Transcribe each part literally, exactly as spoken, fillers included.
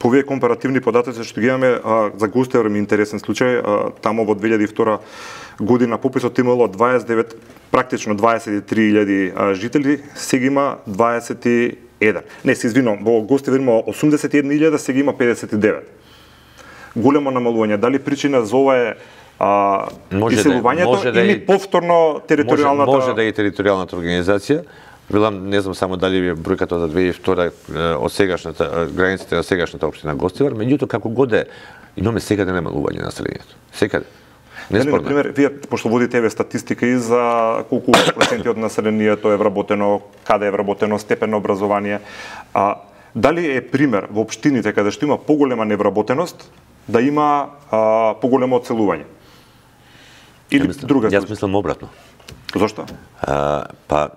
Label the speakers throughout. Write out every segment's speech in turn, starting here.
Speaker 1: овие компаративни податоци што ги имаме а, за Гостивар ми интересен случај, а, тамо во две илјади и втора година пописот имало дваесет и девет, практично дваесет и три илјади жители, сега има дваесет и еден. Не, се извинувам, во Гостивар има осумдесет и една илјада, сега има педесет и девет. Големо намалување. Дали причина за ова е а, иселувањето да, или да повторно територијалната...
Speaker 2: Може, може да е територијалната организација. Велам, не знам само дали е бројката за две илјади и втора од сегашната границите на сегашната општина Гостивар, меѓутоа како god е, имаме секаде намалување на населението. Секаде.
Speaker 1: Дали, например, вие пошто водите еве статистика и за колку проценти од населението е вработено, каде е вработено, степен на образование, а дали е пример во општините каде што има поголема невработеност да има а, поголемо одселување? Или
Speaker 2: мислам,
Speaker 1: друга
Speaker 2: Јас мислам обратно.
Speaker 1: Зошто?
Speaker 2: А, па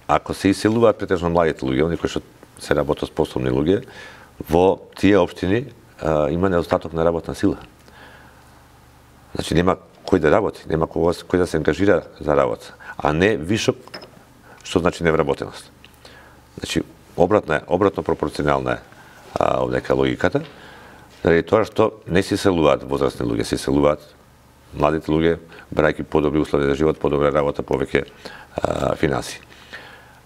Speaker 2: ако се иселуваат претежно младите луѓе, оние кои што се работоспособни луѓе, во тие општини а, има недостаток на работна сила. Значи нема кој да работи, нема кој да се ангажира за работа, а не вишок, што значи невработеност. Значи обратно е, обратно пропорционална е а, овдека логиката, заради тоа што не се иселуваат возрастни луѓе, се иселуваат младите луѓе, брајќи подобри услови за живот, подобра работа, повеќе а, финанси.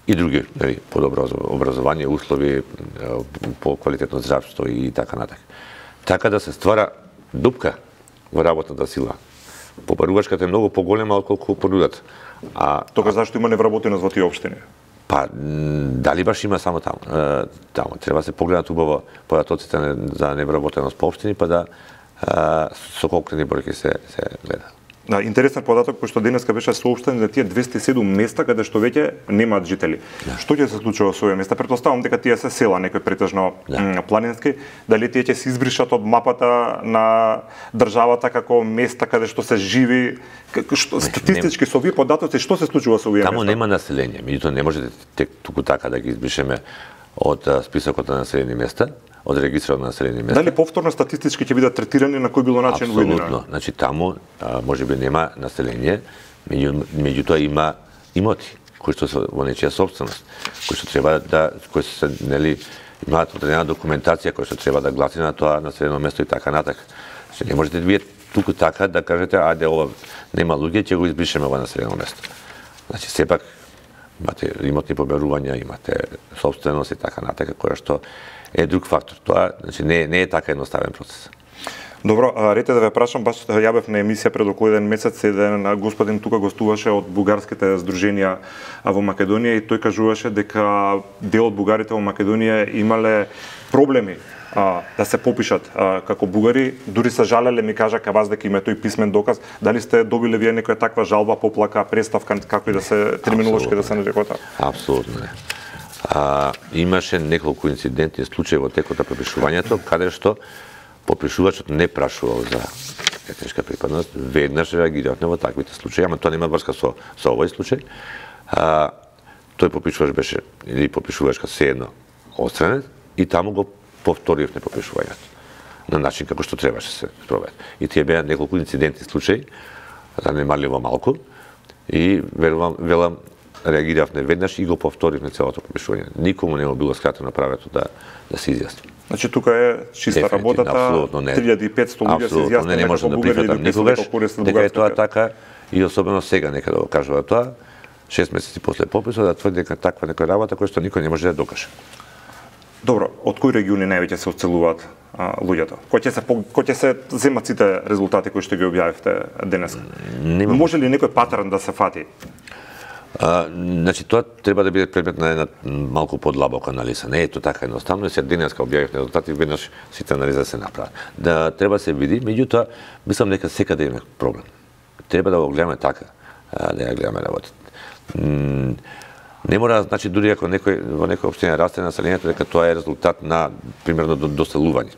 Speaker 2: И други, нели, подобро образование, услови, по квалитетно здравство и така натаму. Така да се ствара дупка во работната сила. Попарувачката е многу поголема отколку понудата. А
Speaker 1: тогаш зашто има невработеност во тие општини?
Speaker 2: Па дали баш има само таму? Таму треба се погледнат убаво податоците за невработеност по општини, па да со конкретни бројки се се гледа.
Speaker 1: Да, интересен податок кој што денеска беше соопштен за тие двесте и седум места каде што веќе немаат жители. Да. Што ќе се случува со овие места? Претпоставам дека тие се села, некои претежно да. планински, дали тие ќе се избришат од мапата на државата како места каде што се живи, што статистички со овие податоци што се случува со овие
Speaker 2: Таму
Speaker 1: места?
Speaker 2: Таму нема население, меѓутоа не можете тек туку така да ги избришеме од списокот на населени места, од регистрот на населени места.
Speaker 1: Дали повторно статистички ќе бидат третирани на кој било начин во едина?
Speaker 2: Апсолутно. Значи таму а, можеби нема население, меѓу, меѓутоа има имоти кои што се во нечија собственост, кои што треба да кои се нели имаат одредена документација која што треба да гласи на тоа населено место и така натака. Значи не можете вие туку така да кажете ајде ова нема луѓе, ќе го избришеме ова населено место. Значи сепак имате имотни побарувања, имате собственост и така натака, која што е друг фактор. Тоа значи не не е така едноставен процес.
Speaker 1: Добро, рете да ве прашам, баш јавев на емисија пред околу еден месец, еден господин тука гостуваше од бугарските здруженија во Македонија и тој кажуваше дека дел од бугарите во Македонија имале проблеми а, да се попишат а, како бугари, дури се жалеле, ми кажа ка вас дека има тој писмен доказ. Дали сте добиле вие некоја таква жалба, поплака, представка, како и да се терминолошки да се нарекува така?
Speaker 2: Апсолутно не. А, имаше неколку инциденти, случаи во текот на попишувањето, каде што попишувачот не прашувал за етничка припадност, веднаш реагиравме во таквите случаи, ама тоа нема врска со со овој случај. А, тој попишувач беше или попишувачка седно отстранет и таму го повторивме попишувањето на начин како што требаше се спроведе. И тие беа неколку инциденти случаи, занемарливо малку и верувам велам реагиравме веднаш и го повторивме целото попишување. Никому не било скратено правото да да се изјасни.
Speaker 1: Значи тука е чиста работата, три илјади и петсто луѓе се изјасниле
Speaker 2: не може да прифатам никогаш дека е тоа така и особено сега нека да го кажува тоа, шест месеци после пописот да тврди дека таква некоја работа која што никој не може да докаже.
Speaker 1: Добро, од кои региони највеќе се одселуваат луѓето? Кој ќе се кој ќе се земат сите резултати кои што ги објавивте денеска? Може ли некој патерн да се фати?
Speaker 2: А, значи тоа треба да биде предмет на една малку подлабока анализа. Не е тоа така едноставно, се денеска објавивме резултати, веднаш сите анализа се направат. Да треба се види, меѓутоа мислам дека секаде има проблем. Треба да го гледаме така, да ја гледаме работата. Не мора, значи, дури ако некој во некоја општина расте населението, дека тоа е резултат на примерно доселување.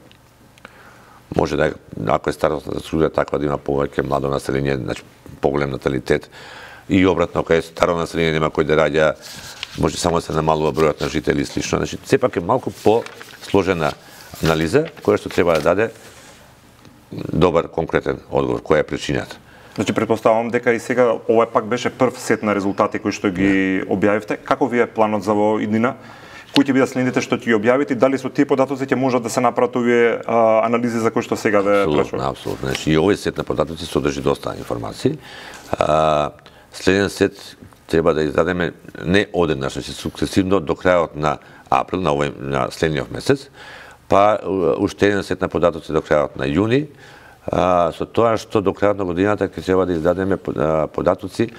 Speaker 2: Може да ако е старосната структура таква да има повеќе младо население, значи поголем наталитет, и обратно, ако е старо население, нема кој да раѓа, може само да се намалува бројот на жители и слично. Значи, сепак е малку по-сложена анализа, која што треба да даде добар, конкретен одговор, која е причината.
Speaker 1: Значи, претпоставам дека и сега ова пак беше прв сет на резултати кои што ги објавивте. Како ви е планот за во иднина? кои ќе бидат следните што ќе ги објавите, дали со тие податоци ќе можат да се направат овие а, анализи за кои што сега ве прашувам?
Speaker 2: Апсолутно, апсолутно. Значи, и овој сет на податоци содржи доста информации. А, следен сет треба да издадеме не одеднаш, значи сукцесивно до крајот на април, на овој на следниот месец, па уште еден сет на податоци до крајот на јуни, а, со тоа што до крајот на годината ќе треба да издадеме податоци.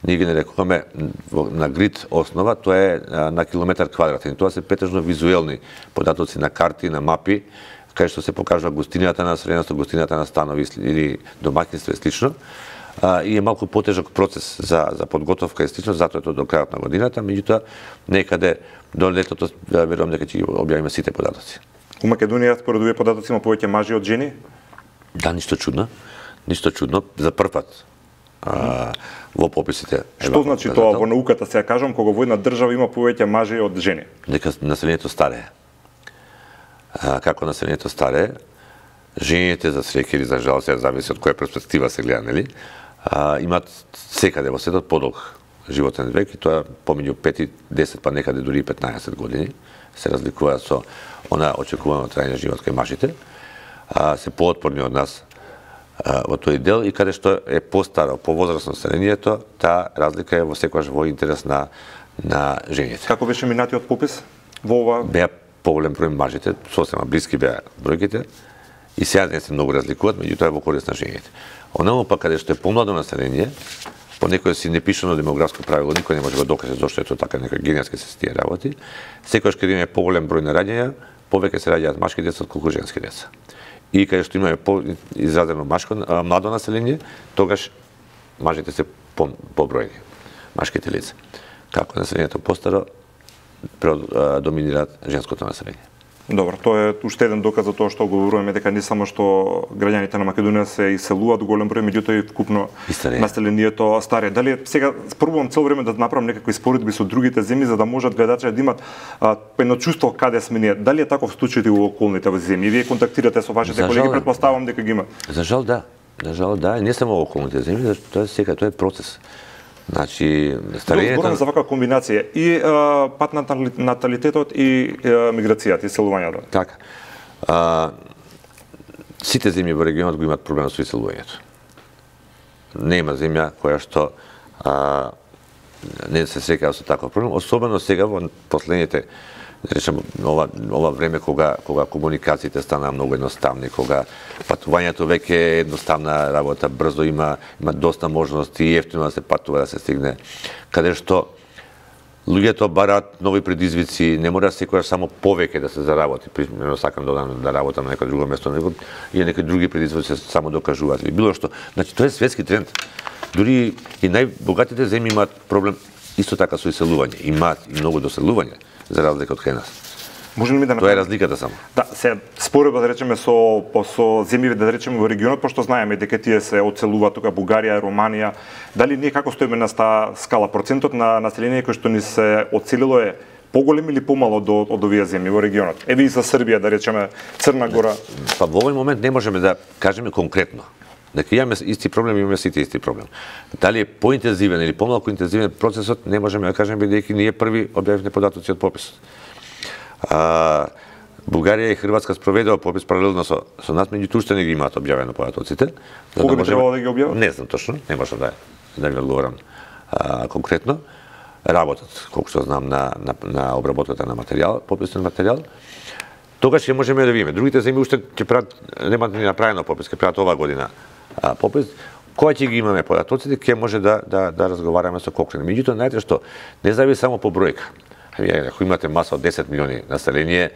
Speaker 2: Ние ги нарекуваме на грид основа, тоа е на километар квадратен. Тоа се претежно визуелни податоци на карти, на мапи, кај што се покажува гостинината на населението, гостинината на станови или домаќинство и слично. А, и е малку потежок процес за за подготовка и слично, затоа е тоа до крајот на годината, меѓутоа некаде до летото верувам дека ќе ги објавиме сите податоци.
Speaker 1: У Македонија според овие податоци има повеќе мажи од жени?
Speaker 2: Да, ништо чудно. Ништо чудно. За прв пат а, во пописите.
Speaker 1: Што значи тоа во науката, сега кажам, кога во една држава има повеќе мажи од жени?
Speaker 2: Дека населението старее. А, како населението старее, жените за среќа или за жал, се зависи од која перспектива се гледа, нели? А, имаат секаде во светот подолг животен век и тоа помеѓу пет и десет, па некаде дури и петнаесет години се разликува со она очекувано трајање живот кај мажите. А, се поотпорни од нас а, во тој дел и каде што е постаро, повозрасно населението, таа разлика е во секогаш во интерес на на жените.
Speaker 1: Како беше минатиот попис во ова?
Speaker 2: Беа поголем број мажите, сосема блиски беа бројките и сега не се многу разликуваат, меѓутоа во корист на жените. Онаму па каде што е помладо население, по некој си непишано демографско правило, никој не може да докаже зошто е тоа така, нека генетски се тие работи. Секогаш каде има поголем број на раѓања, повеќе се раѓаат машки деца отколку женски деца. И каде што имаме по-изразено машко младо население, тогаш мажите се по, побројни, машките лица. Како населението постаро, доминираат женското население.
Speaker 1: Добро, тоа е уште еден доказ за тоа што говоруваме дека не само што граѓаните на Македонија се иселуваат голем број, меѓутоа и вкупно населението старее. Дали сега спробувам цело време да направам некакви споредби со другите земји за да можат гледачите да имат а, едно чувство каде сме ние. Дали е таков случај и во околните земји? Вие контактирате со вашите колеги, претпоставувам дека ги има.
Speaker 2: За жал да. За жал да, не само во околните земји, зашто тоа е сега, тоа е процес. Значи, старењето...
Speaker 1: Зборуваме за вака комбинација и а, пат на наталитетот и а, миграцијата, и селувањето.
Speaker 2: Така. А, сите земји во регионот го имаат проблем со иселувањето. Нема земја која што а, не се среќава со таков проблем, особено сега во последните, да речем, ова, ова време кога кога комуникациите станаа многу едноставни, кога патувањето веќе е едноставна работа, брзо има има доста можности и ефтино да се патува, да се стигне, каде што луѓето бараат нови предизвици, не мора секогаш само повеќе да се заработи, примерно сакам да одам да работам на некој друго место, него и некои други предизвици се само докажуваат или било што. Значи тоа е светски тренд. Дури и најбогатите земји имаат проблем исто така со иселување, имаат и многу доселување, за разлика од кај нас.
Speaker 1: Може ли ми да
Speaker 2: Тоа е разликата само.
Speaker 1: Да, се споредба да речеме со со земји да речеме во регионот, пошто знаеме дека тие се одселуваат тука Бугарија, Романија. Дали ние како стоиме на таа скала, процентот на население кој што ни се одселило е поголем или помало до од овие земји во регионот? Еве и за Србија да речеме, Црна Гора.
Speaker 2: Па во овој момент не можеме да кажеме конкретно. Дека имаме исти проблем, имаме сите исти проблем. Дали е поинтензивен или помалку интензивен процесот, не можеме да кажеме бидејќи ние први објавивме податоци од пописот. А, Бугарија и Хрватска спроведува попис паралелно со со нас, меѓутоа уште не ги имаат објавено податоците.
Speaker 1: Кога би требало да ги објават?
Speaker 2: Не знам точно, не можам да да ви одговорам а, конкретно. Работат, колку што знам, на на на обработката на материјал, пописен материјал. Тогаш ќе можеме да видиме. Другите земји уште ќе прават, немаат ни направено попис, ќе прават оваа година а, попис. Кога ќе ги имаме податоците, ќе може да да да разговараме со Кокрен. Меѓутоа, знаете што, не зависи само по бројка. Ако имате маса од десет милиони население,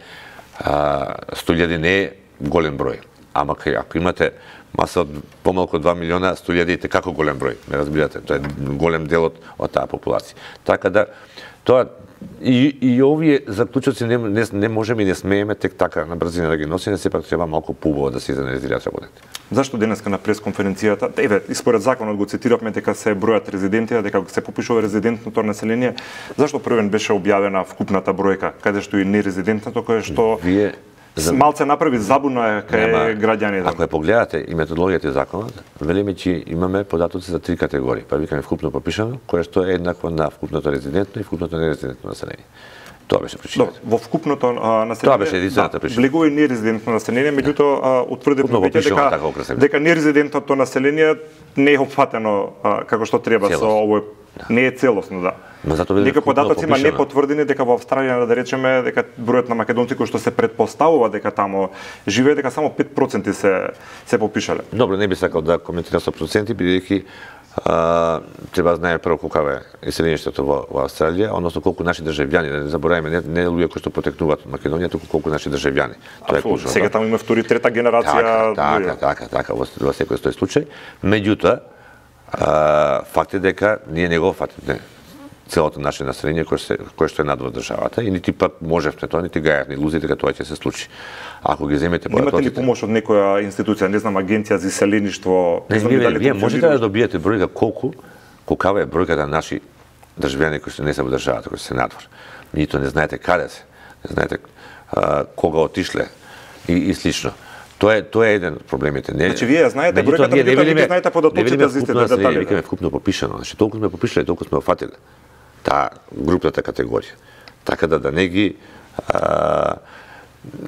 Speaker 2: сто илјади не е голем број. Ама ако имате маса од помалку од два милиона, сто илјади е како голем број, ме разбирате, тоа е голем дел од, од таа популација. Така да, тоа и, и овие заклучоци не, не, не можеме и не смееме тек така на брзина да ги носиме, сепак треба малку поубаво да се изанализираат работите.
Speaker 1: Зашто денеска на пресконференцијата, еве, и според законот го цитиравме дека се бројат резиденти, дека се попишува резидентното население, зашто првен беше објавена вкупната бројка, каде што и нерезидентното, кое што Вие... малце направи забуна кај граѓаните?
Speaker 2: Ако ја погледате и методологијата и законот, велиме че имаме податоци за три категории. Па викаме вкупно попишано, кое што е еднакво на вкупното резидентно и вкупното нерезидентно население. Тоа беше причината.
Speaker 1: Во вкупното население.
Speaker 2: Тоа беше единствената причина.
Speaker 1: Влегува и нерезидентно население, меѓутоа утврдивме веќе дека дека нерезидентното население не е опфатено како што треба со овој, не е целосно, да. Дека податоци има непотврдени дека во Австралија, да речеме, дека бројот на македонци кои што се предпоставува дека таму живеат, дека само пет проценти се се попишале.
Speaker 2: Добро, не би сакал да коментирам со проценти, бидејќи треба да знае прво колку е населението во, во Австралија, односно колку наши државјани, да не забораваме, не, не луѓе кои што потекнуваат од Македонија, туку колку наши државјани.
Speaker 1: Тоа е клучно. Сега таму има втори, трета генерација.
Speaker 2: Така, така, така, така, во, во секој тој случај. Меѓутоа, факт е дека ние не го фатиме целото наше население кое, се, кое што е надвор државата и нити пак можевме тоа, нити гајавме илузии дека тоа ќе се случи. Ако ги земете
Speaker 1: податоците... Имате ли помош од некоја институција, не знам, агенција за иселеништво?
Speaker 2: Не, не, вие, вие можете да добиете бројка колку, колкава е бројката на наши државјани кои што не се во државата, кои се надвор. Нито не знаете каде се, не знаете а, кога отишле и, и слично. Тоа е тоа е еден од проблемите. Не,
Speaker 1: значи вие знаете бројката, не видиме, знаете податоците за истите детали.
Speaker 2: Викаме вкупно попишано, значи толку сме попишале, толку сме офатиле таа групната категорија. Така да да не ги а,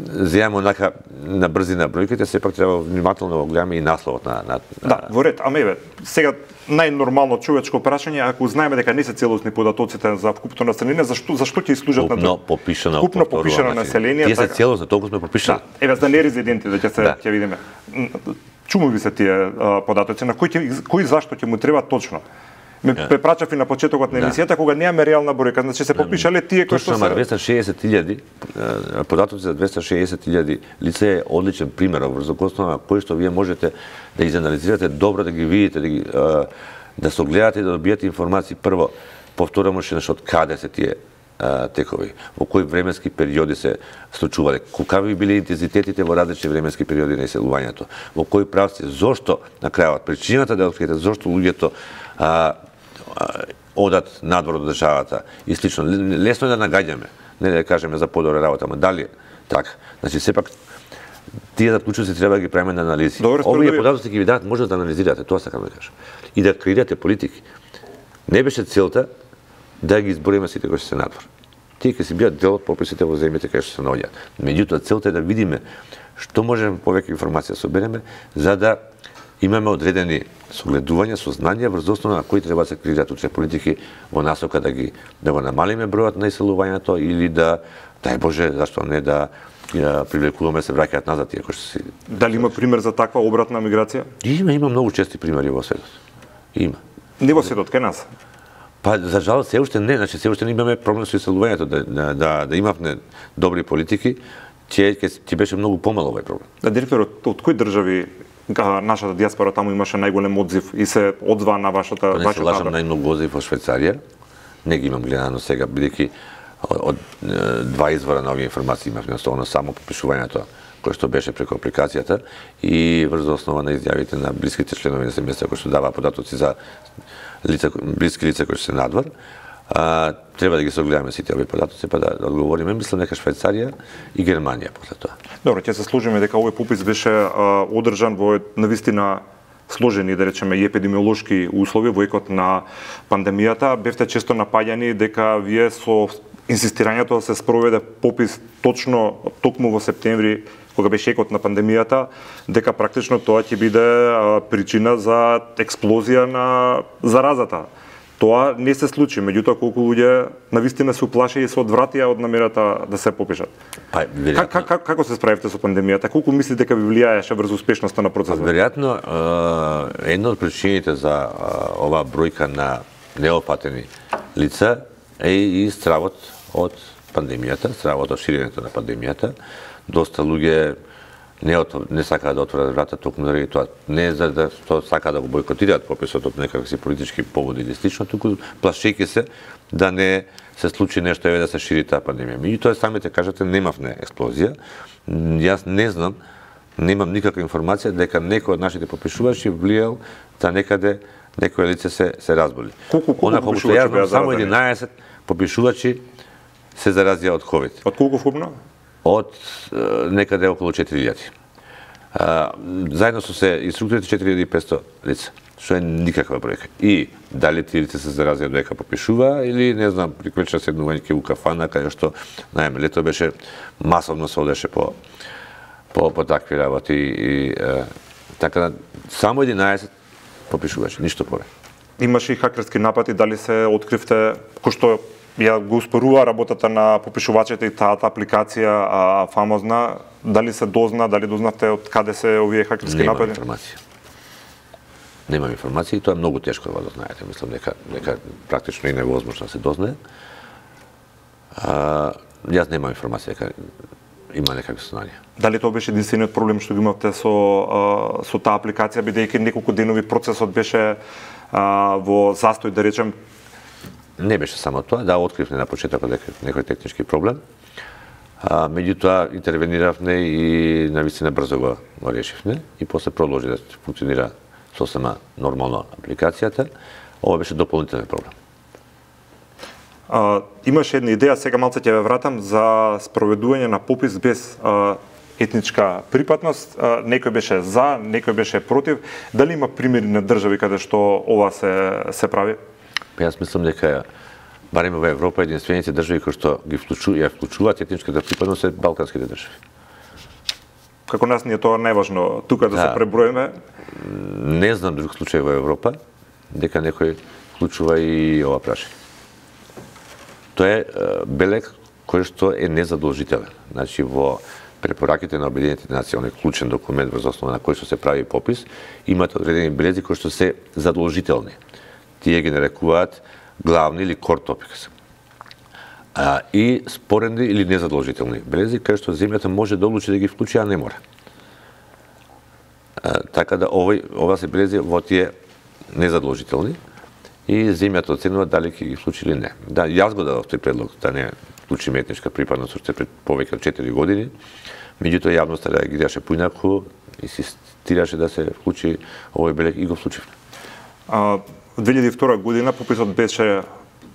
Speaker 2: земаме онака на брзина бројките, сепак треба внимателно го гледаме и насловот на, на, на...
Speaker 1: Да, во ред, ама еве, сега најнормално човечко прашање, ако знаеме дека не се целосни податоците за вкупното население, зашто зашто ќе служат на
Speaker 2: вкупно попишано,
Speaker 1: вкупно попишано население?
Speaker 2: Тие се целосно, толку сме попишани.
Speaker 1: Да, еве за нерезиденти да ќе се
Speaker 2: да.
Speaker 1: ќе видиме. Чуму ви се тие податоци, на кој ќе, кој зашто ќе му треба точно? Ме препрачав и на почетокот на емисијата, да. Кога немаме реална бројка, значи се попишале тие кои што се...
Speaker 2: Точно, двеста и шеесет илјади, податоци за двеста и шеесет илјади лица е одличен пример, врз основа на кој што вие можете да изанализирате добро, да ги видите, да ги да се огледате и да добиете информации. Прво, повторам уште нешто, од каде се тие текови, во кои временски периоди се случувале, колкави биле интензитетите во различни временски периоди на иселувањето, во кои правци, зошто на крајот, причината да откриете зошто луѓето а, одат надвор од државата и слично. Лесно е да нагаѓаме, не да кажеме за подобра работа, ама дали така. Значи сепак тие заклучоци треба да ги правиме на анализи. Овие податоци ќе ви дадат, може да анализирате, тоа сакам да кажам. И да креирате политики. Не беше целта да ги избориме сите кои се надвор. Тие ќе си бидат дел од пописите во земјите кај што се наоѓаат. Меѓутоа целта е да видиме што можеме повеќе информација собереме за да имаме одредени согледувања, сознанија врз основа на кои треба да се креираат утре политики во насока да ги да го намалиме бројот на иселувањето или да, дај Боже, зашто не да ја привлекуваме се враќаат назад тие кои што си.
Speaker 1: Дали има пример за таква обратна миграција?
Speaker 2: Има, има многу чести примери во светот. Има.
Speaker 1: Не во светот, кај нас?
Speaker 2: Па за жал се уште не, значи се уште не имаме проблем со иселувањето, да да да, да имавме добри политики, ќе ќе беше многу помало овој проблем.
Speaker 1: Да, директор, од, од кои држави нашата диаспора таму имаше најголем одзив и се одзва на вашата
Speaker 2: вашата. Не се лажам, најмногу одзив во Швајцарија. Не ги имам гледано сега, бидејќи од два извора на овие информации имавме, особено само попишувањето кој што беше преку апликацијата и врз основа на изјавите на блиските членови на семејството кои што даваа податоци за лица, блиски лица кои што се надвор. А, треба да ги согледаме сите овие податоци па да, да одговориме. Мислам дека Швајцарија и Германија после тоа.
Speaker 1: Добро, ќе се служиме дека овој попис беше а, одржан во навистина сложени, да речеме, и епидемиолошки услови во екот на пандемијата. Бевте често напаѓани дека вие со инсистирањето да се спроведе попис точно токму во септември, кога беше екот на пандемијата, дека практично тоа ќе биде а, причина за експлозија на заразата. Тоа не се случи, меѓутоа колку луѓе навистина се уплаши и се одвратија од намерата да се попишат.
Speaker 2: Па, веројатно...
Speaker 1: как, как, како се справивте со пандемијата? Колку мислите дека ви влијаеше врз успешноста на процесот?
Speaker 2: Па, веројатно, една од причините за оваа бројка на неопатени лица е и стравот од пандемијата, стравот од ширењето на пандемијата. Доста луѓе не, от, не сакаат да отворат врата токму заради тоа, не за да што сакаат да го бойкотираат пописот од некакви политички поводи или слично, туку плашејќи се да не се случи нешто еве да се шири таа пандемија. Меѓутоа самите кажате немавме експлозија. Јас не знам, немам никаква информација дека некој од нашите попишувачи влијал да некаде некој лице се се разболи.
Speaker 1: Колку колку попишувачи беа
Speaker 2: само единаесет попишувачи се заразија од ковид.
Speaker 1: Од колку вкупно?
Speaker 2: Од некаде околу четири илјади. А, заедно со се инструкторите четири илјади и петсто лица, што е никаква бројка. И дали тие лица се заразија додека попишува или не знам, приквеча седнување ке у кафана каде што најме лето беше масовно се одеше по по по такви работи и е, така да само единаесет попишувачи, ништо повеќе.
Speaker 1: Имаше и хакерски напади, дали се откривте кој што ја го успорува работата на попишувачите и таа апликација а, фамозна, дали се дозна, дали дознавте од каде се овие хакерски
Speaker 2: Немам
Speaker 1: напади?
Speaker 2: информација. Немам информација и тоа е многу тешко да го дознаете. Мислам дека дека практично и невозможно да се дознае. А, јас немам информација дека има некакви сознанија.
Speaker 1: Дали тоа беше единствениот проблем што го имавте со а, со таа апликација, бидејќи неколку денови процесот беше а, во застој, да речем?
Speaker 2: Не беше само тоа, да, откривме на почетокот дека некој технички проблем. А, меѓутоа интервениравме и навистина брзо го, го решивме и после продолжи да функционира сосема нормално апликацијата. Ова беше дополнителен проблем.
Speaker 1: А, имаше една идеја, сега малце ќе ве вратам, за спроведување на попис без а, етничка припадност. А, некој беше за, некој беше против. Дали има примери на држави каде што ова се се прави?
Speaker 2: Јас мислам дека барем во Европа единствените држави кои што ги вклучуваат, ја вклучуваат етничката припадност се балканските држави.
Speaker 1: Како нас ни е тоа најважно тука да, да се преброиме.
Speaker 2: Не знам друг случај во Европа дека некој вклучува и ова прашање. Тоа е белег кој што е незадолжителен. Значи во препораките на Обединетите нации, оној клучен документ врз основа на кој што се прави попис, имате одредени белези кои што се задолжителни. Тие ги нарекуваат главни или core topics. А, и споредни или незадолжителни белези, кај што земјата може да одлучи да ги вклучи, а не мора. А, така да овој, ова се белези во тие незадолжителни и земјата оценува дали ќе ги вклучи или не. Да, јас го дадов тој предлог да не вклучиме етничка припадност уште пред повеќе од четири години, меѓутоа јавноста реагираше поинаку, инсистираше да се вклучи овој белег и го вклучивме.
Speaker 1: А, во две илјади и втора година пописот беше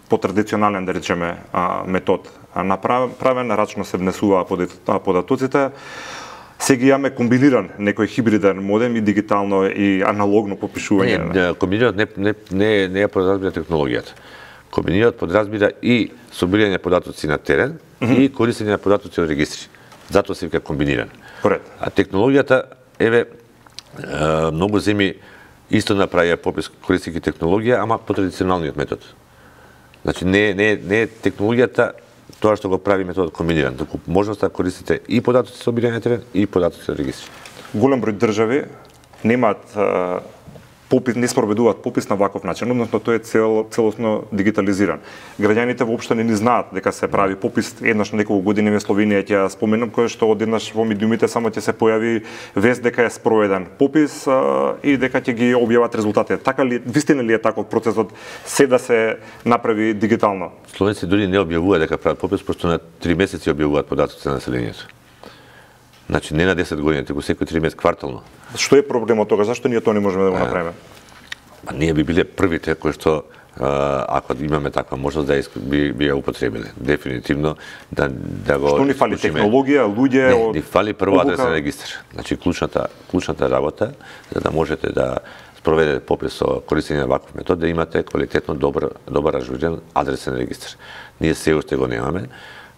Speaker 1: по традиционален, да речеме, метод направен, рачно се внесуваа податоците. Сега имаме комбиниран некој хибриден модем и дигитално и аналогно попишување.
Speaker 2: Не, комбинират не не не не подразбира технологијата. Комбинират подразбира и собирање податоци на терен mm -hmm. и користење на податоци од регистри. Затоа се вика комбиниран.
Speaker 1: Поред.
Speaker 2: А технологијата еве многу земји исто направија попис користејќи технологија, ама по традиционалниот метод. Значи не не не технологијата тоа што го прави методот комбиниран, туку можноста да користите и податоци со собирање терен и податоци од регистри.
Speaker 1: Голем број држави немаат попис, не спроведуваат попис на ваков начин, односно тој е цел, целосно дигитализиран. Граѓаните воопшто не ни знаат дека се прави попис. Еднаш на неколку години во Словенија ќе споменам, кој што одеднаш во медиумите само ќе се појави вест дека е спроведен попис а, и дека ќе ги објават резултатите. Така ли, вистина ли е таков процесот се да се направи дигитално?
Speaker 2: Словенци дури не објавуваат дека прават попис, пошто на три месеци објавуваат податоци на населението. Значи не на десет години, туку секој три месеци квартално.
Speaker 1: Што е проблемот тога? Зашто ние тоа не можеме да го направиме?
Speaker 2: Па ние би биле првите кои што ако имаме таква можност да би би ја употребиле. Дефинитивно да да го
Speaker 1: Што ни фали, технологија, луѓе?
Speaker 2: Не, од... ни фали прво адресен регистар. Значи клучната клучната работа за да можете да спроведете попис со користење на ваков метод, да имате квалитетно добар добар ажурен адресен регистар. Ние се уште го немаме.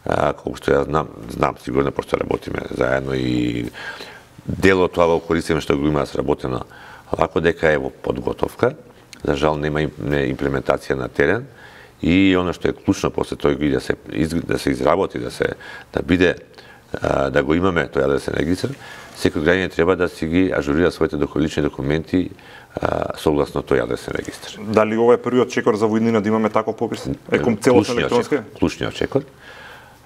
Speaker 2: А, колку што ја знам, знам сигурно пошто работиме заедно и дел од тоа го користиме што го има сработено вако дека е во подготовка. За жал нема имплементација на терен и она што е клучно после тој да се да се изработи, да се да биде да го имаме тој адресен регистар, секој граѓанин треба да си ги ажурира своите лични документи согласно тој адресен регистар.
Speaker 1: Дали ова е првиот чекор за војнина да имаме таков попис? Е ком целосно електронски?
Speaker 2: Клучниот чекор.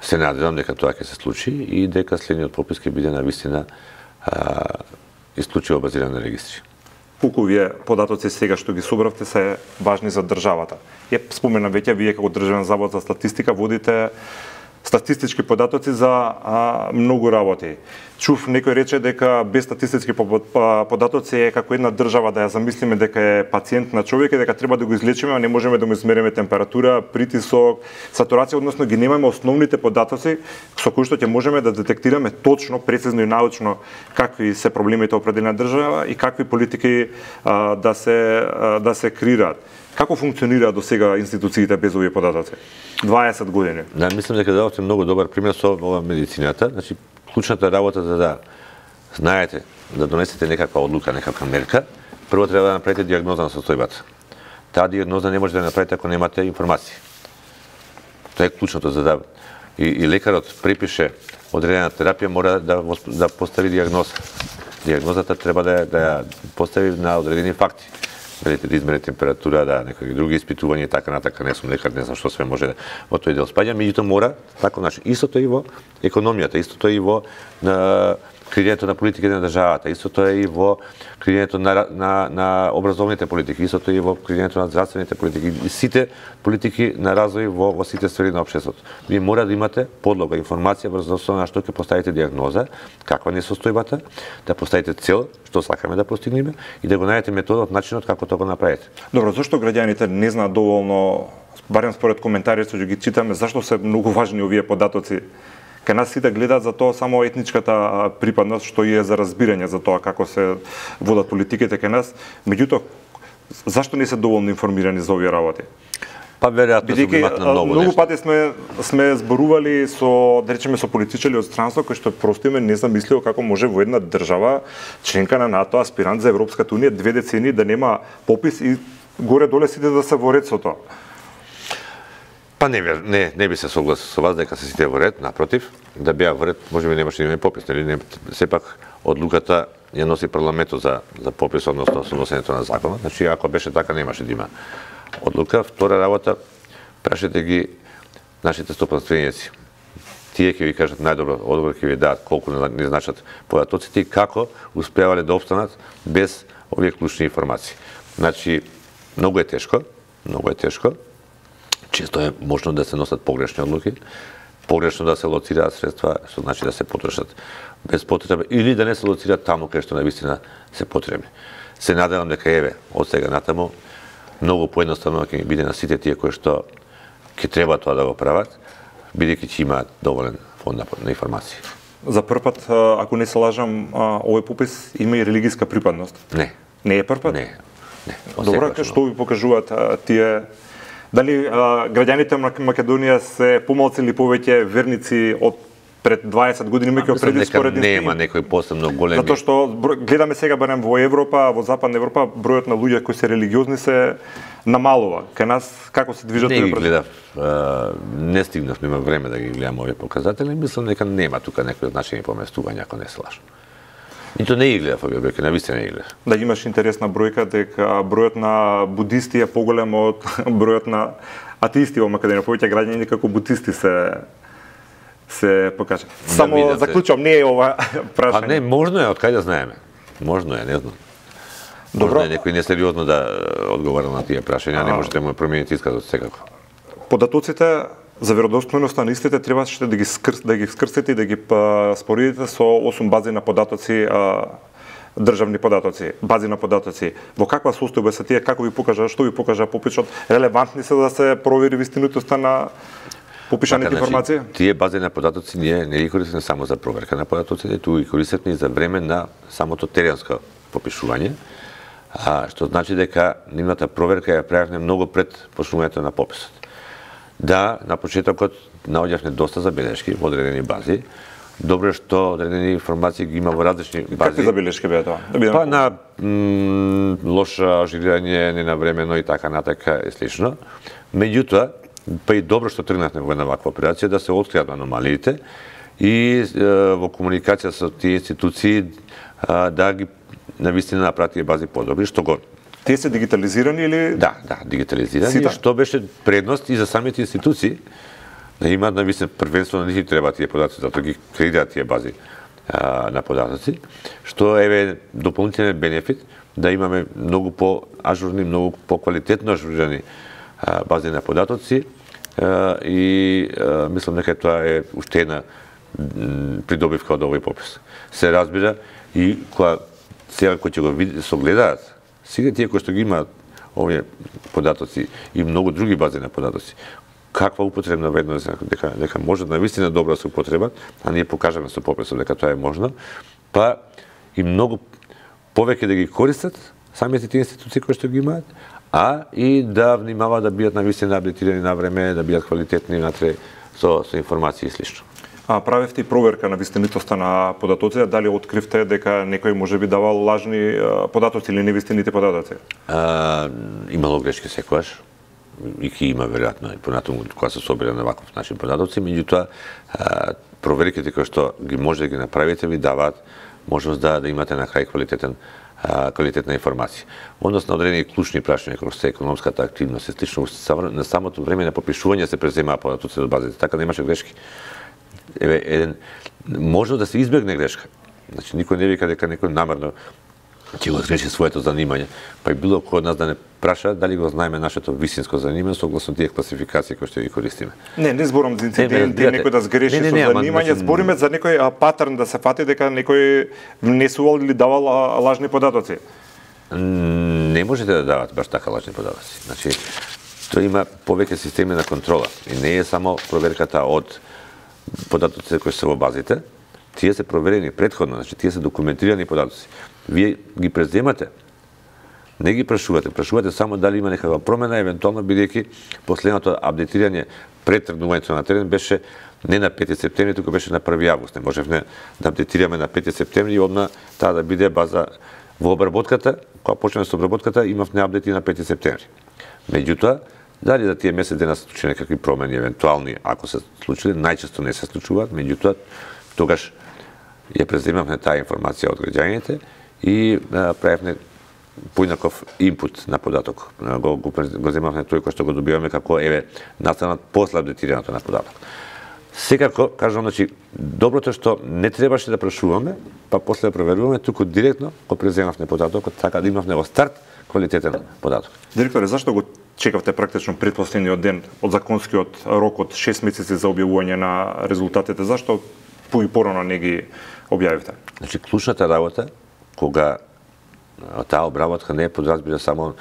Speaker 2: Се надевам дека тоа ќе се случи и дека следниот попис ќе биде навистина исклучиво базиран на регистри.
Speaker 1: Колку вие податоци сега што ги собравте се важни за државата? Ја споменам веќе, вие како Државен завод за статистика водите статистички податоци за а, многу работи. чув некој рече дека без статистички податоци е како една држава да ја замислиме дека е пациент на човек и дека треба да го излечиме, а не можеме да му измериме температура, притисок, сатурација, односно ги немаме основните податоци со кои што ќе можеме да детектираме точно, прецизно и научно какви се проблемите определена држава и какви политики а, да се а, да се креираат. Како функционира до сега институциите без овие податоци? дваесет години.
Speaker 2: Да, мислам дека дадовте многу добар пример со ова медицината. Значи, клучната работа за да знаете, да донесете некаква одлука, некаква мерка, прво треба да направите дијагноза на состојбата. Таа дијагноза не може да ја направите ако немате информации. Тоа е клучното за да и, и лекарот препише одредена терапија, мора да да постави дијагноза. Дијагнозата треба да да ја постави на одредени факти. Дали да измери температура, да некои други испитувања и така натака, не сум лекар, не знам што све може да во тој дел спаѓа, меѓутоа мора така значи истото и во економијата, истото и во на креирањето на политиките на државата, истото е и во креирањето на на на образовните политики, истото и во креирањето на здравствените политики, и сите политики на развој во во сите сфери на општеството. Вие мора да имате подлога, информација врз основа на што ќе поставите дијагноза, каква не е состојбата, да поставите цел, што сакаме да постигнеме и да го најдете методот, начинот како тоа го направите.
Speaker 1: Добро, зашто граѓаните не знаат доволно, барем според коментарите што ги читаме, зашто се многу важни овие податоци? Кај нас сите гледаат за тоа само етничката припадност, што и е за разбирање за тоа како се водат политиките кај нас. Меѓутоа, зашто не се доволно информирани за овие работи?
Speaker 2: Па веројатно се имат на многу
Speaker 1: многу
Speaker 2: нешто.
Speaker 1: пати сме сме зборували со, да речеме, со политичари од странство кои што просто име не замислио како може во една држава членка на НАТО, аспирант за Европската унија, две децении да нема попис и горе-доле сите да се во ред со тоа.
Speaker 2: Па не, не, не би се согласил со вас дека се сите во ред, напротив, да беа во ред, можеби немаше да имаме попис, нели? Не, сепак одлуката ја носи парламентот за за попис, односно со носењето на законот. Значи ако беше така немаше да има одлука. Втора работа, прашете ги нашите стопанственици. Тие ќе ви кажат најдобро одговор, ќе ви дадат колку не значат податоците и како успевале да опстанат без овие клучни информации. Значи многу е тешко, многу е тешко. Често е можно да се носат погрешни одлуки, погрешно да се лоцираат средства, што значи да се потрошат без потреба, или да не се лоцираат таму кај што навистина се потребни. Се надевам дека еве од сега натаму многу поедноставно ќе ми биде на сите тие кои што ќе треба тоа да го прават, бидејќи ќе имаат доволен фонд на информации.
Speaker 1: За прв пат, ако не се лажам, овој попис има и религиска припадност.
Speaker 2: Не.
Speaker 1: Не е прв пат?
Speaker 2: Не. Не.
Speaker 1: Добро, што ви покажуваат а, тие дали а, граѓаните на Македонија се помалку или повеќе верници од пред дваесет години, меѓу преди споредни стени?
Speaker 2: Нема некој посебно големи.
Speaker 1: Затоа што гледаме сега барем во Европа, во Западна Европа, бројот на луѓе кои се религиозни се намалува. Кај нас како се движат
Speaker 2: овие? Не
Speaker 1: ги
Speaker 2: гледав, не стигнав, нема време да ги гледам овие показатели, мислам дека нема тука некои значајни поместувања, ако не се лажам. Нито не ги гледав овие бројки, навистина не ги гледав.
Speaker 1: Да, имаш интересна бројка дека бројот на будисти е поголем од бројот на атеисти во Македонија. Повеќе граѓани како будисти се се покажа. Само да заклучувам, не е ова прашање.
Speaker 2: А не, можно е, од кај да знаеме. Можно е, не знам. Добро. Можно е некој несериозно да одговара на тие прашања, не можете да му промените исказот секако.
Speaker 1: Податоците за веродостојноста на истите требаше да ги скрс, да ги скрстите и да ги споредите со осум бази на податоци, а, државни податоци, бази на податоци. Во каква состојба се тие, како ви покажа, што ви покажа пописот, релевантни се да се провери вистинитоста на попишаните
Speaker 2: така,
Speaker 1: информации?
Speaker 2: Значи, тие бази на податоци ние не ги користиме само за проверка на податоците, туку ги користиме и за време на самото теренско попишување, а, што значи дека нивната проверка ја правевме многу пред почнувањето на пописот. Да, на почетокот наоѓавме доста забелешки во одредени бази. Добро е што одредени информации ги има во различни бази.
Speaker 1: Какви забелешки беа тоа? Да
Speaker 2: па на м, лоша ажурирање, ненавремено и така натака и слично. Меѓутоа, па и добро што тргнавме во една ваква операција да се откријат аномалиите и е, во комуникација со тие институции е, да ги навистина направат тие бази подобри, што го
Speaker 1: Тие се дигитализирани или?
Speaker 2: Да, да, дигитализирани,
Speaker 1: Сита?
Speaker 2: Што беше предност и за самите институции, да имаат навистина првенствено не треба тие податоци, затоа ги креираат тие бази а, на податоци, што е дополнителен бенефит да имаме многу по-ажурни, многу по-квалитетно ажурирани а, бази на податоци а, и а, мислам дека тоа е уште една придобивка од овој попис. Се разбира и кога сега кои ќе го види, согледаат, сега тие кои што ги имаат овие податоци и многу други бази на податоци, каква употребна вредност дека дека може навистина добро да се употребат, а ние покажаме со пописот дека тоа е можно, па и многу повеќе да ги користат самите тие институции кои што ги имаат, а и да внимаваат да бидат навистина апдейтирани на време, да бидат квалитетни внатре со со информации и слично.
Speaker 1: А правевте и проверка на вистинитоста на податоците, дали откривте дека некој можеби давал лажни податоци или невистините податоци?
Speaker 2: А, имало грешки секогаш, и ки има веројатно и понатаму кога се собира на ваков начин податоци, меѓутоа проверките кои што ги може да ги направите ви даваат можност да да имате на крај квалитетен квалитетна информација. Однос на одредени клучни прашања како што е економската активност, слично на самото време на попишување се преземаа податоци од базите, така немаше грешки. Еве еден може да се избегне грешка. Значи никој не вика дека некој намерно ќе го згреши своето занимање, па и било кој од нас да не праша дали го знаеме нашето вистинско занимање согласно тие класификации кои што ги користиме.
Speaker 1: Не, не зборам за инциденти, некој да згреши не, не, не, со занимање, значи... збориме за некој патерн да се фати дека некој внесувал или давал лажни податоци.
Speaker 2: Не можете да давате баш така лажни податоци. Значи тоа има повеќе системи на контрола и не е само проверката од податоците кои се во базите, тие се проверени претходно, значи тие се документирани податоци. Вие ги преземате, не ги прашувате, прашувате само дали има некаква промена, евентуално бидејќи последното апдейтирање пред тргнувањето на терен беше не на пети септември, туку беше на први август. Не можевме да апдейтираме на пети септември и одма таа да биде база во обработката, кога почнеме со обработката, имавме апдети на пети септември. Меѓутоа, дали за тие месец дена се случи некакви промени евентуални, ако се случиле, најчесто не се случуваат, меѓутоа тогаш ја преземавме таа информација од граѓаните и а, правевме поинаков инпут на податок. Го, го, го земавме тој кој што го добиваме како еве настанат после апдейтирањето на податок. Секако, кажам, значи, доброто е што не требаше да прашуваме, па после да проверуваме, туку директно го преземавме податокот, така да имавме во старт квалитетен податок.
Speaker 1: Директоре, зашто го чекавте практично предпоследниот ден од законскиот рок од шест месеци за објавување на резултатите? Зашто пои порано не ги објавивте?
Speaker 2: Значи, клучната работа, кога таа обработка не е подразбира само,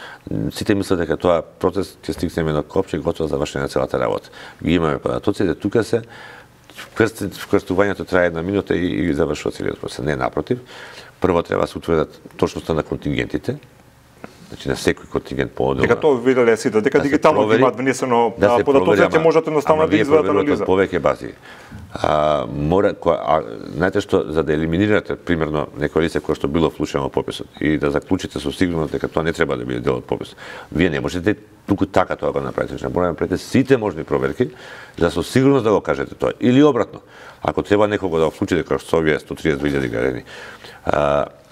Speaker 2: сите мислат дека тоа процес ќе стигнеме на копче и готово завршена целата работа. Ги имаме податоците, тука се вкрстувањето трае една минута и, и завршува целиот процес. Не, напротив, прво треба да се утврдат точноста на контингентите, значи на секој контингент по-одделно.
Speaker 1: Дека тоа виделе сите, дека да дигитално ги имаат внесено да податоците, можете едноставно да извадат анализа.
Speaker 2: Повеќе бази. А, мора, која, а, знаете што, за да елиминирате, примерно, некој лице кое што било вклучено во пописот и да заклучите со сигурност дека тоа не треба да биде дел од пописот, вие не можете туку така тоа го направите. Значи, мора да направите сите можни проверки, за со сигурност да го кажете тоа. Или обратно, ако треба некого да го вклучите како што овие сто триесет илјади граѓани,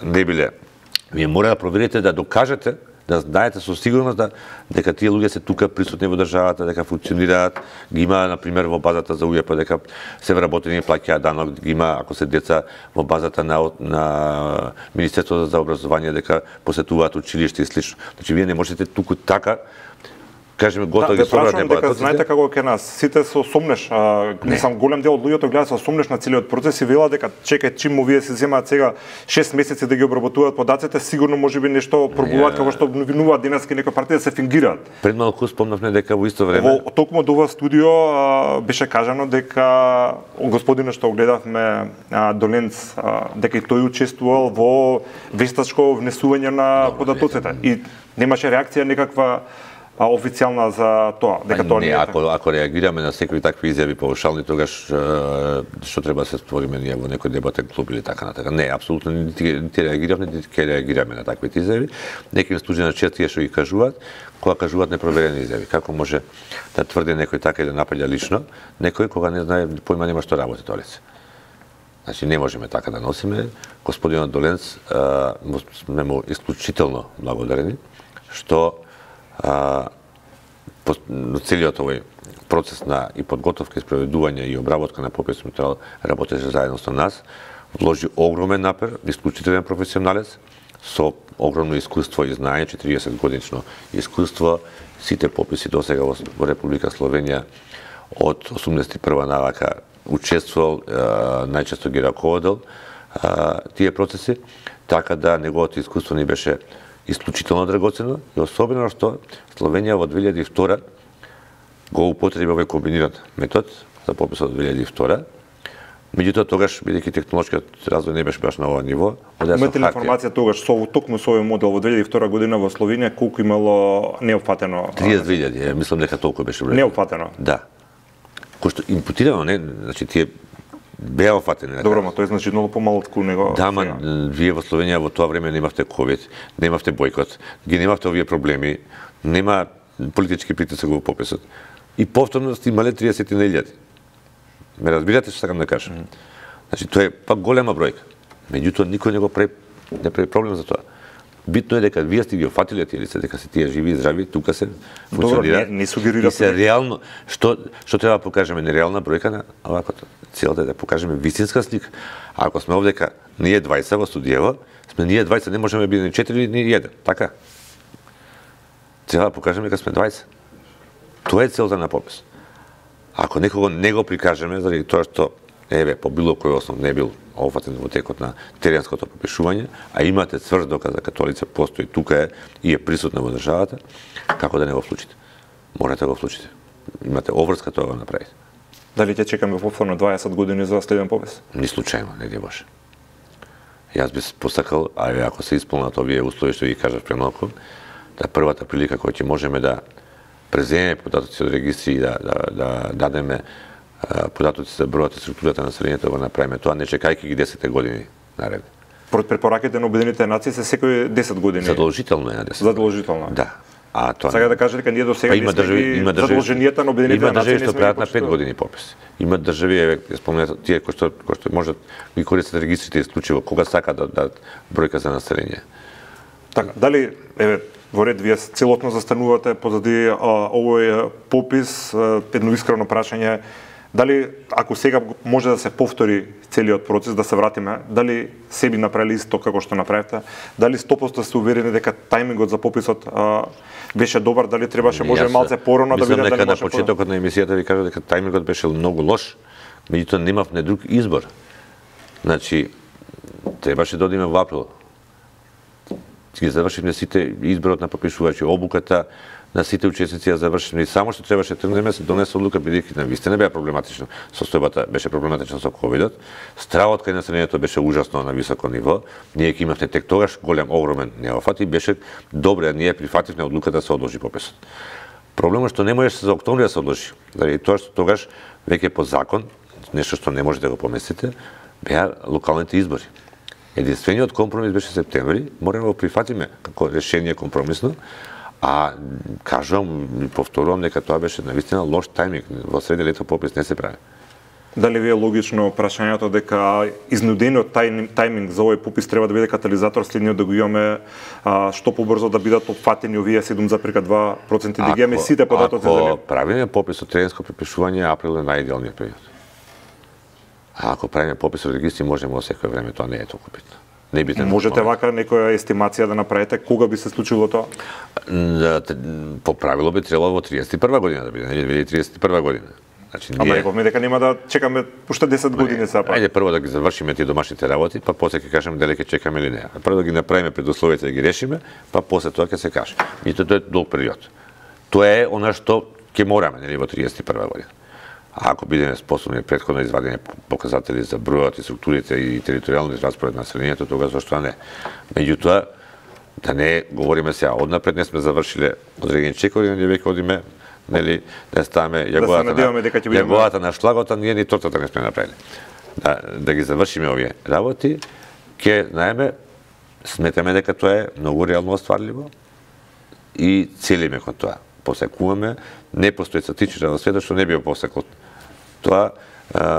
Speaker 2: не биле, вие мора да проверите да докажете, да знаете со сигурност да дека тие луѓе се тука присутни во државата, дека функционираат, ги има на пример во базата за УЈП дека се вработени и плаќаат данок, ги има ако се деца во базата на на Министерството за образование дека посетуваат училиште и слично. Значи вие не можете туку така кажеме готово да, ги собрате податоците.
Speaker 1: Знаете како ке нас сите се сомнеш, а, не сам голем дел од луѓето гледаат се сомнеш на целиот процес и велат дека чекај чим му вие се земаат сега шест месеци да ги обработуваат податоците, сигурно можеби нешто пробуваат како што обвинуваат денески некои партии да се фингираат.
Speaker 2: Пред малку спомнавме дека во исто време
Speaker 1: во токму до ова студио а, беше кажано дека господинот што гледавме а, Доленц а, дека и тој учествувал во вестачко внесување на податоците и немаше реакција никаква а официјална за тоа, дека тоа
Speaker 2: не,
Speaker 1: не е
Speaker 2: ако ако реагираме на секои такви изјави паушални, тогаш што треба да се створиме ние во некој дебатен клуб или така натака. Не, апсолутно не ти реагиравме, нити ќе реагираме на таквите изјави. Некои случаи на тие што ги кажуваат, кога кажуваат непроверени изјави. Како може да тврди некој така и да напаѓа лично, некој кога не знае појма нема што работи тоа лице. Значи не можеме така да носиме. Господинот Доленц сме му исклучително благодарени што а, по, целиот овој процес на и подготовка, и спроведување и обработка на пописот материјал работеше заедно со нас, вложи огромен напор, исклучителен професионалец, со огромно искуство и знаење, четириесет годишно искуство, сите пописи досега во, во Република Словенија од осумдесет и прва навака учествувал, најчесто ги раководел тие процеси, така да неговото искуство ни беше исклучително драгоцено и особено што Словенија во две илјади и втора го употреби овој комбиниран метод за пописот од две илјади и втора. Меѓутоа тогаш, бидејќи технолошкиот развој не беше баш на ова ниво,
Speaker 1: имате ли информација тогаш со токму со овој модел во две илјади и втора година во Словенија колку имало неопфатено?
Speaker 2: триесет две илјади, мислам дека толку беше број.
Speaker 1: Неопфатено?
Speaker 2: Да. Кој што импутирано, не, значи тие беа офатени.
Speaker 1: Добро, ма тој значи многу помалку него.
Speaker 2: Да, ма вие во Словенија во тоа време немавте ковид, немавте бојкот, ги немавте овие проблеми, нема политички притисок во пописот. И повторно сте имале триесет илјади. Ме разбирате што сакам да кажам? Mm. Значи тоа е пак голема бројка. Меѓутоа никој не го прави не прави проблем за тоа. Битно е дека вие сте ги офатиле тие лица, дека се тие живи и здрави, тука се функционира.
Speaker 1: Добро, не, не сугерирате.
Speaker 2: И се реално, што што треба да покажеме нереална бројка на овако целата е да покажеме вистинска слика. А ако сме овдека ние дваесет во студијево, сме ние дваесет, не можеме да бидеме ни четири ни еден, така? Треба да покажеме дека сме дваесет. Тоа е целта на попис. Ако некого не го прикажеме заради тоа што еве по било кој основ не бил офатен во текот на теренското попишување, а имате цврст доказ дека тоа лице постои тука е и е присутно во државата, како да не го вклучите? Морате да го вклучите. Имате обврска тоа го направите.
Speaker 1: Дали ќе чекаме повторно дваесет години за следен попис?
Speaker 2: Ни случајно, не ди Боже. Јас би посакал, а ако се исполнат овие услови што ги кажав премалку, да првата прилика која ќе можеме да преземеме податоци од регистри и да, да, да дадеме податоци за бројот и структурата на населението, го направиме тоа, не чекајќи ги десет години наред.
Speaker 1: Според препораките на Обединетите нации се секој десет години.
Speaker 2: Задолжително е на десет.
Speaker 1: Задолжително.
Speaker 2: Да. А тоа
Speaker 1: Сега да кажа дека ние до сега
Speaker 2: па, не сме
Speaker 1: задолженијата на Обединетите нации
Speaker 2: не сме. Има држави што прават на пет години попис. Има држави, еве, спомнете тие кои што кои што можат ги користат регистрите исклучиво кога сакаат да дадат бројка за население.
Speaker 1: Така, дали еве во ред вие целосно застанувате позади а, овој попис, едно искрено прашање, дали ако сега може да се повтори целиот процес, да се вратиме, дали се би направили исто како што направивте, дали сто проценти сте уверени дека тајмингот за пописот а, беше добар, дали требаше може малце порано да биде, дали
Speaker 2: може. Мислам дека на почетокот на емисијата ви кажав дека тајмингот беше многу лош, меѓутоа немавме друг избор. Значи требаше да одиме во април. Ги завршивме сите изборот на попишувачи, обуката на сите учесници ја завршивме и само што требаше тргнеме се донесе одлука бидејќи навистина беа проблематично. Состојбата беше проблематична со ковидот. Стравот кај населението беше ужасно на високо ниво. Ние ќе имавме тек тогаш голем огромен неофат и беше добре, ние прифативме одлука да се одложи пописот. Проблемот што не можеше за октомври да се одложи, заради тоа што тогаш веќе по закон, нешто што не можете да го поместите, беа локалните избори. Единствениот компромис беше септември, мораме да го прифатиме како решение компромисно, а кажувам и повторувам дека тоа беше навистина лош тајминг, во среде лето попис не се прави.
Speaker 1: Дали ви е логично прашањето дека изнудениот тајминг за овој попис треба да биде катализатор следниот да го имаме а, што побрзо да бидат опфатени овие седум запирка два проценти да ги имаме сите податоци за нив?
Speaker 2: Ако правиме попис од теренско препишување, април е најидеалниот период. А ако правиме попис од регистри, можеме во секое време, тоа не е толку битно. Не битно.
Speaker 1: Можете вака некоја естимација да направите кога би се случило тоа?
Speaker 2: По правило би требало во триесет и прва година да биде, не две илјади триесет и прва година. Значи,
Speaker 1: Ама рековме дека нема да чекаме уште десет години сега.
Speaker 2: Ајде прво да ги завршиме тие домашните работи, па после ќе кажеме дали ќе чекаме или не. Прво да ги направиме предусловите да ги решиме, па после тоа ќе се каже. И тоа е долг период. Тоа е она што ќе мораме, нели, во триесет и прва година. А ако бидеме способни претходно извадени показатели за бројот и структурите и територијалниот распоред на населението, тогаш зашто не. Меѓутоа, да не говориме сега однапред, не сме завршиле одредени чекови, ние веќе одиме, нели, да ставаме јаголата
Speaker 1: да
Speaker 2: на јаголата на шлагота, ние ни тортата не сме направили. Да, да ги завршиме овие работи, ќе знаеме, сметаме дека тоа е многу реално остварливо и целиме кон тоа. Посекуваме, не постои статистичка во светот што не би посекол тоа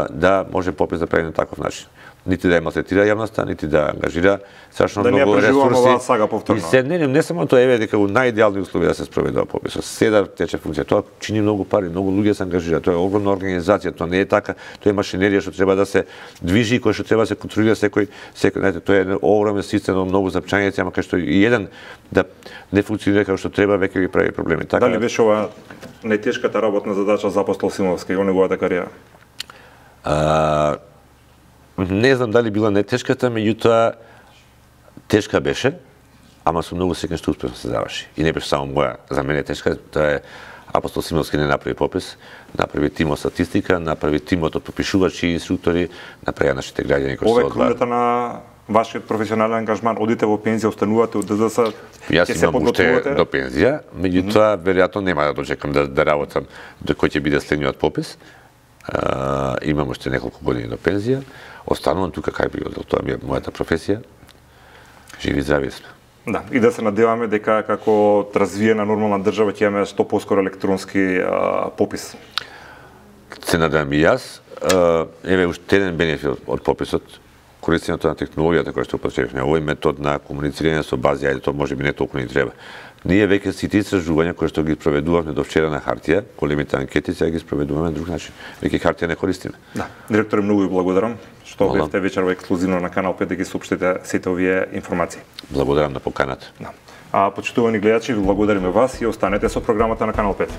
Speaker 2: да може попис да прави на таков начин. Нити да ја малтретира јавноста, нити да ангажира страшно
Speaker 1: да
Speaker 2: многу ресурси.
Speaker 1: Сага повторно.
Speaker 2: И се не, не само тоа еве дека во најидеални услови да се спроведе пописот. Седа тече функција, тоа чини многу пари, многу луѓе се ангажираат. Тоа е огромна организација, тоа не е така, тоа е машинерија што треба да се движи, кој што треба да се контролира секој, секој, знаете, тоа е огромен систем, многу запчањици, ама кај што и еден да не функционира како што треба, веќе ги прави проблеми.
Speaker 1: Така, дали беше ова најтешката работна задача за Апостол Симовски во неговата кариера?
Speaker 2: А, не знам дали била нетешката, меѓутоа тешка беше, ама со многу секен што успешно се заврши. И не беше само моја, за мене тешка, тоа е Апостол Симовски не направи попис, направи тимот статистика, направи тимот од попишувачи и инструктори, направи нашите граѓани кои се
Speaker 1: Ова е
Speaker 2: одваат.
Speaker 1: крунета на вашиот професионален ангажман, одите во пензија, останувате од ДЗС,
Speaker 2: Јас
Speaker 1: ќе се
Speaker 2: имам уште
Speaker 1: подготвувате?
Speaker 2: до пензија, меѓутоа веројатно нема да дочекам да, да работам до кој ќе биде следниот попис. А, имам уште неколку години до пензија. Останувам тука кај би одел, тоа ми е мојата професија. Живи и здрави сме.
Speaker 1: Да, и да се надеваме дека како развиена нормална држава ќе имаме што поскоро електронски а, попис.
Speaker 2: Се надевам и јас. А, еве уште еден бенефит од пописот, користењето на технологијата која што употребивме. Овој метод на комуницирање со бази, ајде тоа можеби не толку ни треба. Ние веќе сите истражувања кои што ги спроведувавме до вчера на хартија, големите анкети, сега ги спроведуваме на друг начин. Веќе хартија не користиме.
Speaker 1: Да, директоре, многу ви благодарам што
Speaker 2: Мола.
Speaker 1: бевте вечерва ексклузивно на Канал пет да ги соопштите сите овие информации.
Speaker 2: Благодарам на поканата.
Speaker 1: Да. А почитувани гледачи, ви благодариме вас и останете со програмата на Канал пет.